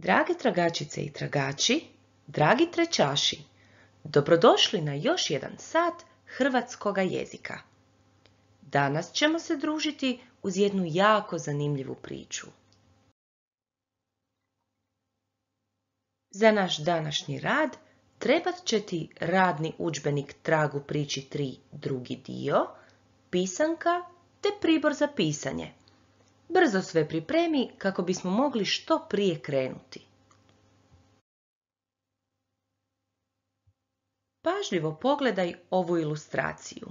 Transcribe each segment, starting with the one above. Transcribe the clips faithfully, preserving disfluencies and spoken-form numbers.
Drage tragačice i tragači, dragi trećaši, dobrodošli na još jedan sat hrvatskoga jezika. Danas ćemo se družiti uz jednu jako zanimljivu priču. Za naš današnji rad trebat će ti radni udžbenik Trag u priči tri drugi dio, pisanka te pribor za pisanje. Brzo sve pripremi kako bismo mogli što prije krenuti. Pažljivo pogledaj ovu ilustraciju.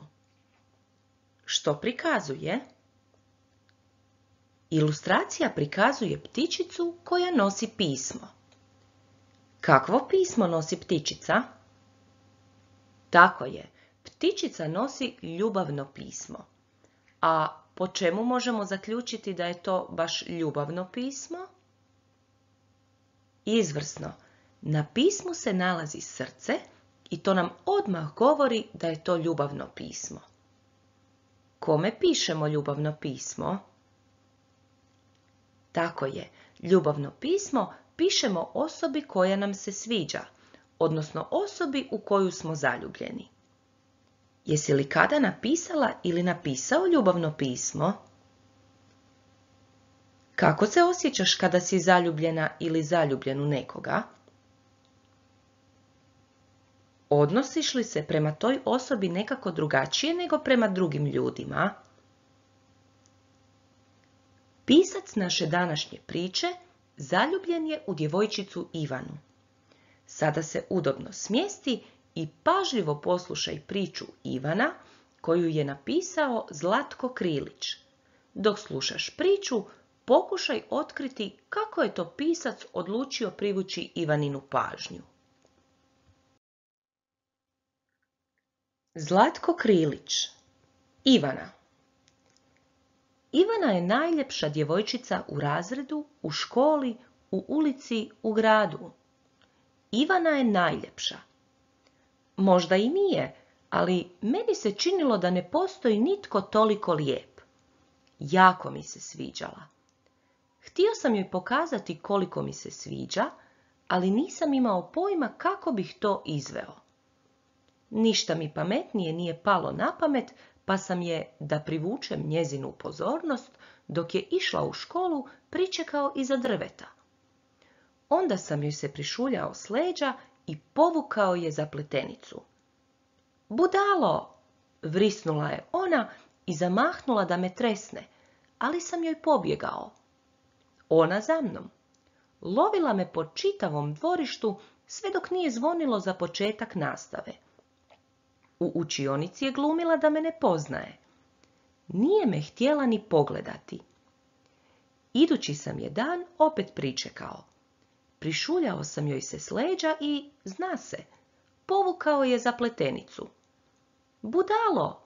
Što prikazuje? Ilustracija prikazuje ptičicu koja nosi pismo. Kakvo pismo nosi ptičica? Tako je, ptičica nosi ljubavno pismo. A po čemu možemo zaključiti da je to baš ljubavno pismo? Izvrsno, na pismu se nalazi srce i to nam odmah govori da je to ljubavno pismo. Kome pišemo ljubavno pismo? Tako je, ljubavno pismo pišemo osobi koja nam se sviđa, odnosno osobi u koju smo zaljubljeni. Jesi li kada napisala ili napisao ljubavno pismo? Kako se osjećaš kada si zaljubljena ili zaljubljen u nekoga? Odnosiš li se prema toj osobi nekako drugačije nego prema drugim ljudima? Pisac naše današnje priče zaljubljen je u djevojčicu Ivanu. Sada se udobno smjesti i pažljivo poslušaj priču Ivana koju je napisao Zlatko Krilić. Dok slušaš priču, pokušaj otkriti kako je to pisac odlučio privući Ivaninu pažnju. Zlatko Krilić. Ivana. Ivana je najljepša djevojčica u razredu, u školi, u ulici, u gradu. Ivana je najljepša. Možda i nije, ali meni se činilo da ne postoji nitko toliko lijep. Jako mi se sviđala. Htio sam joj pokazati koliko mi se sviđa, ali nisam imao pojma kako bih to izveo. Ništa mi pametnije nije palo na pamet, pa sam je, da privučem njezinu pozornost, dok je išla u školu, pričekao iza drveta. Onda sam joj se prišuljao s leđa i povukao je za pletenicu. Budalo! Vrisnula je ona i zamahnula da me tresne, ali sam joj pobjegao. Ona za mnom. Lovila me po čitavom dvorištu sve dok nije zvonilo za početak nastave. U učionici je glumila da me ne poznaje. Nije me htjela ni pogledati. Idući sam je dan opet pričekao. Prišuljao sam joj se s leđa i, zna se, povukao je za pletenicu. Budalo!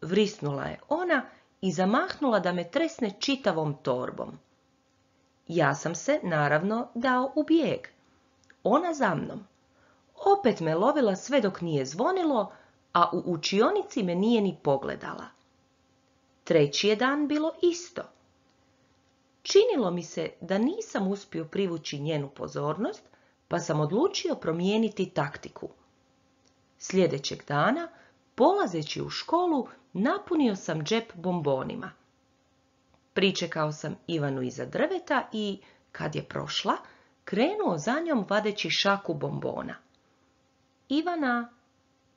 Vrisnula je ona i zamahnula da me tresne čitavom torbom. Ja sam se, naravno, dao u bijeg. Ona za mnom. Opet me lovila sve dok nije zvonilo, a u učionici me nije ni pogledala. Treći je dan bilo isto. Činilo mi se da nisam uspio privući njenu pozornost, pa sam odlučio promijeniti taktiku. Sljedećeg dana, polazeći u školu, napunio sam džep bombonima. Pričekao sam Ivanu iza drveta i, kad je prošla, krenuo za njom vadeći šaku bombona. Ivana,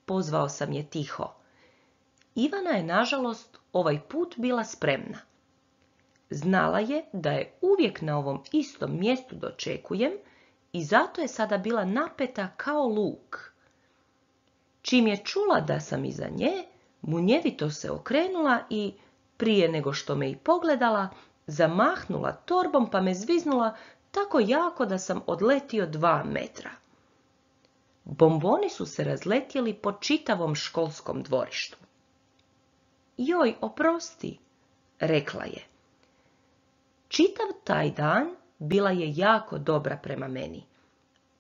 pozvao sam je tiho. Ivana je, nažalost, ovaj put bila spremna. Znala je da je uvijek na ovom istom mjestu dočekujem i zato je sada bila napeta kao luk. Čim je čula da sam iza nje, munjevito se okrenula i, prije nego što me i pogledala, zamahnula torbom pa me zviznula tako jako da sam odletio dva metra. Bomboni su se razletjeli po čitavom školskom dvorištu. Joj, oprosti, rekla je. Čitav taj dan bila je jako dobra prema meni,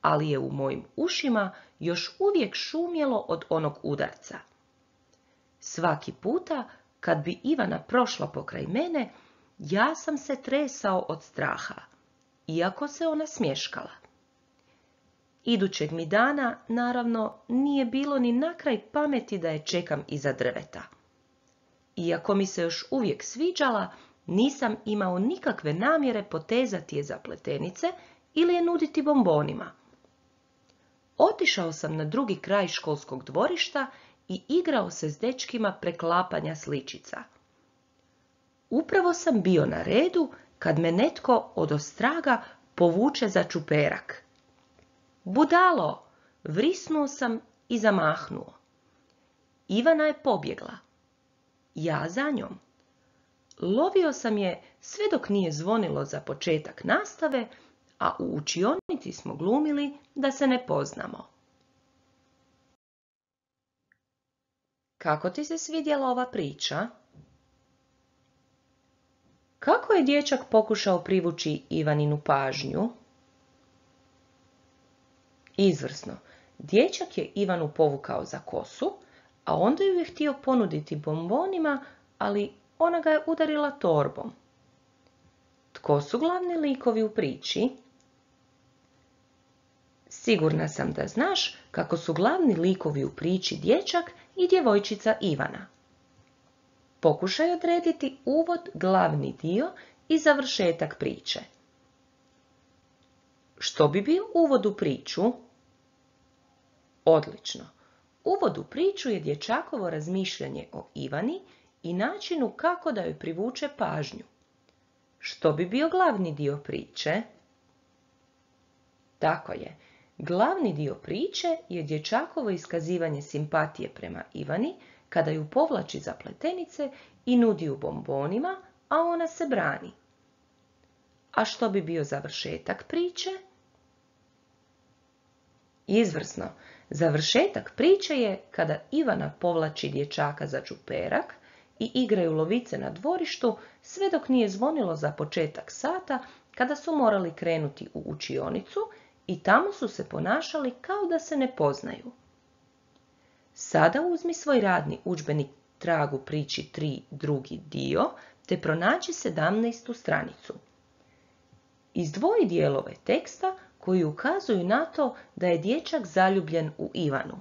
ali je u mojim ušima još uvijek šumjelo od onog udarca. Svaki puta, kad bi Ivana prošla pokraj mene, ja sam se tresao od straha. iako se ona smješkala. Idućeg mi dana, naravno, nije bilo ni na kraj pameti da je čekam iza drveta. Iako mi se još uvijek sviđala, nisam imao nikakve namjere potezati je za pletenice ili je nuditi bombonima. Otišao sam na drugi kraj školskog dvorišta i igrao se s dečkima preklapanja sličica. Upravo sam bio na redu kad me netko odostraga povuče za čuperak. Budalo! Vrisnuo sam i zamahnuo. Ivana je pobjegla. Ja za njom. Lovio sam je sve dok nije zvonilo za početak nastave, a u učionici smo glumili da se ne poznamo. Kako ti se svidjela ova priča? Kako je dječak pokušao privući Ivaninu pažnju? Izvrsno. Dječak je Ivanu povukao za kosu, a onda ju je htio ponuditi bombonima, ali ona ga je udarila torbom. Tko su glavni likovi u priči? Sigurna sam da znaš kako su glavni likovi u priči dječak i djevojčica Ivana. Pokušaj odrediti uvod, glavni dio i završetak priče. Što bi bio uvod u priču? Odlično. Uvod u priču je dječakovo razmišljanje o Ivani i načinu kako da joj privuče pažnju. Što bi bio glavni dio priče? Tako je. Glavni dio priče je dječakovo iskazivanje simpatije prema Ivani kada ju povlači za pletenice i nudi ju bombonima, a ona se brani. A što bi bio završetak priče? Izvrsno. Završetak priče je kada Ivana povlači dječaka za čuperak i igraju lovice na dvorištu sve dok nije zvonilo za početak sata kada su morali krenuti u učionicu i tamo su se ponašali kao da se ne poznaju. Sada uzmi svoj radni udžbenik Trag u priči tri drugi dio te pronađi sedamnaestu stranicu. Izdvoji dijelove teksta koji ukazuju na to da je dječak zaljubljen u Ivanu.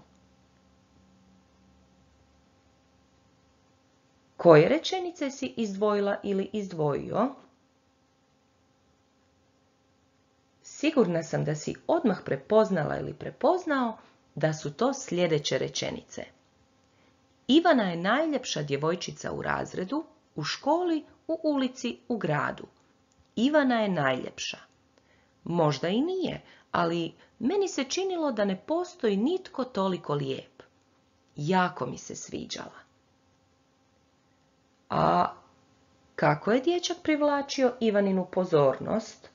Koje rečenice si izdvojila ili izdvojio? Sigurna sam da si odmah prepoznala ili prepoznao da su to sljedeće rečenice. Ivana je najljepša djevojčica u razredu, u školi, u ulici, u gradu. Ivana je najljepša. Možda i nije, ali meni se činilo da ne postoji nitko toliko lijep. Jako mi se sviđala. A kako je dječak privlačio Ivaninu pozornost?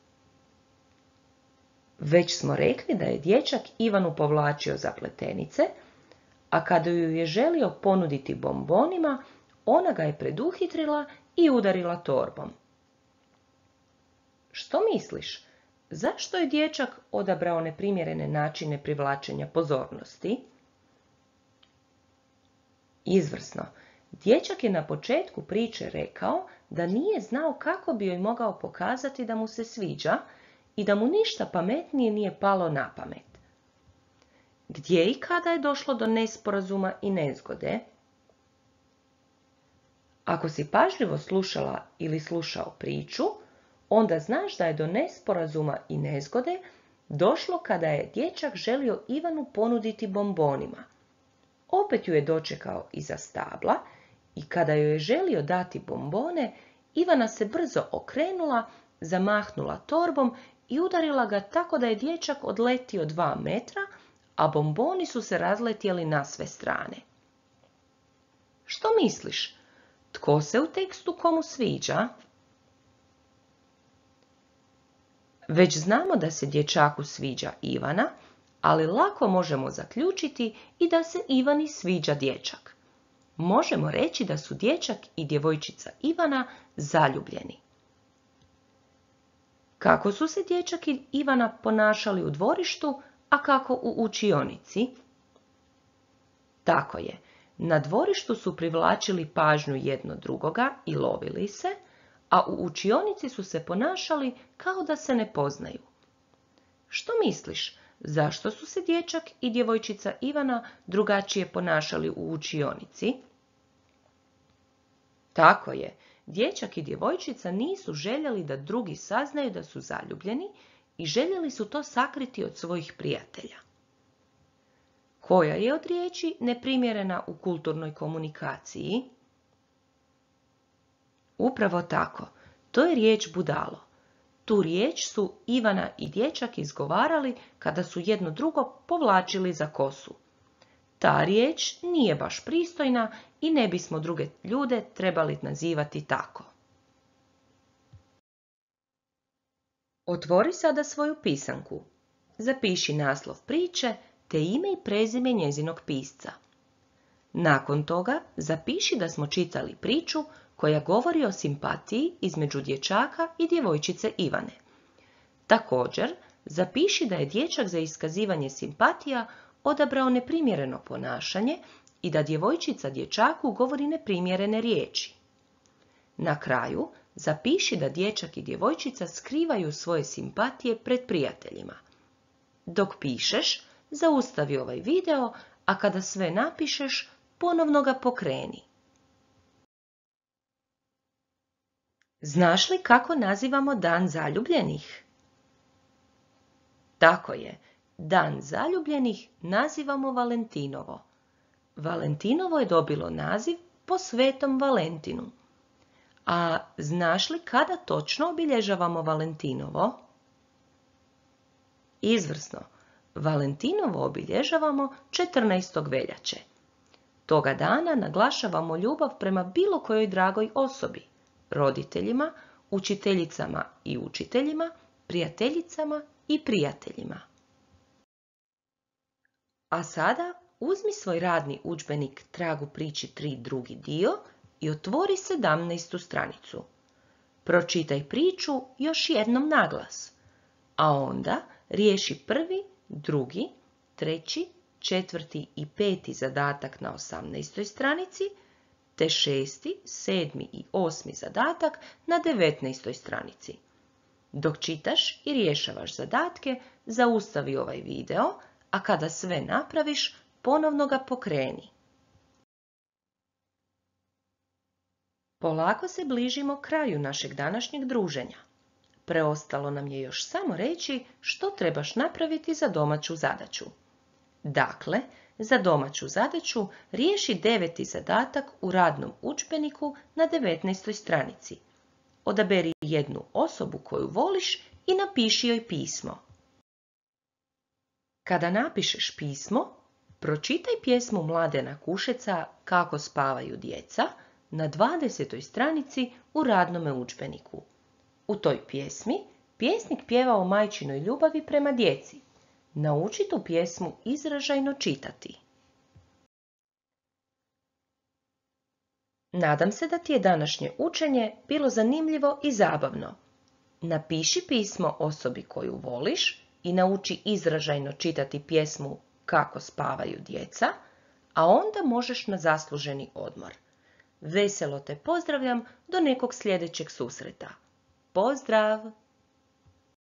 Već smo rekli da je dječak Ivanu povlačio za pletenice, a kada ju je želio ponuditi bombonima, ona ga je preduhitrila i udarila torbom. Što misliš? Zašto je dječak odabrao neprimjerene načine privlačenja pozornosti? Izvrsno. Dječak je na početku priče rekao da nije znao kako bi joj mogao pokazati da mu se sviđa i da mu ništa pametnije nije palo na pamet. Gdje i kada je došlo do nesporazuma i nezgode? Ako si pažljivo slušala ili slušao priču, onda znaš da je do nesporazuma i nezgode došlo kada je dječak želio Ivanu ponuditi bombonima. Opet ju je dočekao iza stabla i kada joj je želio dati bombone, Ivana se brzo okrenula, zamahnula torbom i udarila ga tako da je dječak odletio dva metra, a bomboni su se razletjeli na sve strane. Što misliš? Tko se u tekstu komu sviđa? Već znamo da se dječaku sviđa Ivana, ali lako možemo zaključiti i da se Ivani sviđa dječak. Možemo reći da su dječak i djevojčica Ivana zaljubljeni. Kako su se dječak i Ivana ponašali u dvorištu, a kako u učionici? Tako je, na dvorištu su privlačili pažnju jedno drugoga i lovili se, a u učionici su se ponašali kao da se ne poznaju. Što misliš, zašto su se dječak i djevojčica Ivana drugačije ponašali u učionici? Tako je, dječak i djevojčica nisu željeli da drugi saznaju da su zaljubljeni i željeli su to sakriti od svojih prijatelja. Koja je od riječi neprimjerena u kulturnoj komunikaciji? Upravo tako, to je riječ budalo. Tu riječ su Ivana i dječak izgovarali kada su jedno drugo povlačili za kosu. Ta riječ nije baš pristojna i ne bismo druge ljude trebali nazivati tako. Otvori sada svoju pisanku. Zapiši naslov priče te ime i prezime njezinog pisca. Nakon toga zapiši da smo čitali priču koja govori o simpatiji između dječaka i djevojčice Ivane. Također, zapiši da je dječak za iskazivanje simpatija odabrao neprimjereno ponašanje i da djevojčica dječaku govori neprimjerene riječi. Na kraju, zapiši da dječak i djevojčica skrivaju svoje simpatije pred prijateljima. Dok pišeš, zaustavi ovaj video, a kada sve napišeš, ponovno ga pokreni. Znaš li kako nazivamo dan zaljubljenih? Tako je, dan zaljubljenih nazivamo Valentinovo. Valentinovo je dobilo naziv po Svetom Valentinu. A znaš li kada točno obilježavamo Valentinovo? Izvrsno, Valentinovo obilježavamo četrnaestog veljače. Toga dana naglašavamo ljubav prema bilo kojoj dragoj osobi, roditeljima, učiteljicama i učiteljima, prijateljicama i prijateljima. A sada uzmi svoj radni udžbenik Trag u priči tri drugi dio i otvori sedamnaestu stranicu. Pročitaj priču još jednom naglas, a onda riješi prvi, drugi, treći, četvrti i peti zadatak na osamnaestoj stranici, te šesti, sedmi i osmi zadatak na devetnaestoj stranici. Dok čitaš i rješavaš zadatke, zaustavi ovaj video, a kada sve napraviš, ponovno ga pokreni. Polako se bližimo kraju našeg današnjeg druženja. Preostalo nam je još samo reći što trebaš napraviti za domaću zadaću. Dakle, za domaću zadaću riješi deveti zadatak u radnom udžbeniku na devetnaestoj stranici. Odaberi jednu osobu koju voliš i napiši joj pismo. Kada napišeš pismo, pročitaj pjesmu Mladena Kušeca Kako spavaju djeca na dvadesetoj stranici u radnome udžbeniku. U toj pjesmi pjesnik pjeva o majčinoj ljubavi prema djeci. Nauči tu pjesmu izražajno čitati. Nadam se da ti je današnje učenje bilo zanimljivo i zabavno. Napiši pismo osobi koju voliš i nauči izražajno čitati pjesmu Kako spavaju djeca, a onda možeš na zasluženi odmor. Veselo te pozdravljam do nekog sljedećeg susreta. Pozdrav!